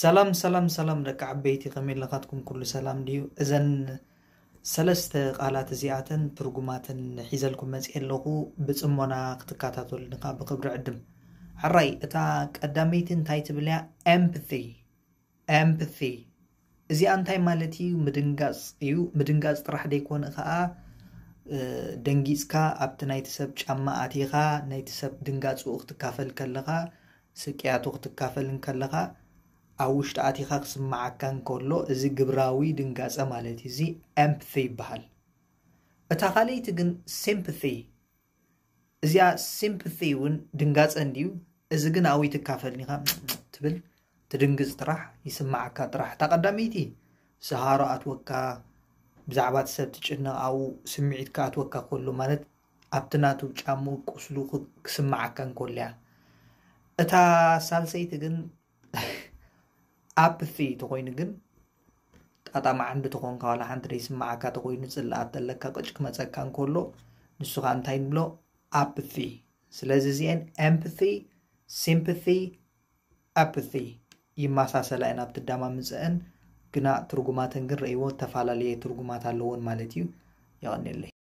ሰላም ሰላም ሰላም ደቂ ዓበይቲ፣ ከመይ ኣለኻትኩም? ኩሉ ሰላም ድዩ? እዘን ሰለስተ ቃላት እዚኣተን ትርጉማተን ሒዘልኩም መፅእ ኣለኹ። ብፅሞና ክትከታተሉኒ ከዓ ብክብሪ ዕድም። ሕራይ፣ እታ ቀዳመይቲ እንታይ ትብል እያ? Empathy። Empathy እዚኣ እንታይ ማለት እዩ? ምድንጋፅ እዩ። ምድንጋፅ ጥራሕ ደይኮነ ከዓ ደንጊፅካ ኣብቲ ናይቲ ሰብ ጫማ ኣቲኻ ናይቲ ሰብ ድንጋፅኡ ክትካፈል ከለኻ፣ ስቅያቱ ክትካፈል እንከለኻ፣ ኣብ ውሽጢ ኣቲኻ ክስምዓካ እንከሎ፣ እዚ ግብራዊ ድንጋፀ ማለት እዩ። እዚ empathy ይበሃል። እታ ካልኣይቲ ግን sympathy። እዚኣ sympathy እውን ድንጋፀ እንድዩ። እዚ ግን ኣብኡ ትካፈል ኢኻ ትብል፣ ትድንግፅ ጥራሕ፣ ይስምዓካ ጥራሕ። እታ ቀዳመይቲ ስሃሮ ኣትወካ፣ ብዛዕባ እቲ ሰብ ትጭነቕ፣ ኣብኡ ስምዒትካ ኣትወካ ከሎ፣ ማለት ኣብቲ ናቱ ጫምኡ ቁስሉ ክስምዓካ እንከሎ እያ። እታ ሳልሰይቲ ግን apathy ተኾይኑ ግን፣ ጣጣ መዓንዲ ተኾንካ፣ ዋላ ሓንቲ ደይስምዓካ ተኾይኑ፣ ፅላኣት ዘለካ ቅጭ ክመፀካ እንከሎ፣ ንሱ ከዓ እንታይ ንብሎ? Apathy። ስለዚ እዚአን empathy፣ sympathy፣ apathy ይመሳሰላ እየን ኣብቲ ኣደማምፅአን፣ ግና ትርጉማተን ግን ረእይዎ፣ ተፈላለየ ትርጉማት ኣለዎን ማለት እዩ። የቐንየለይ።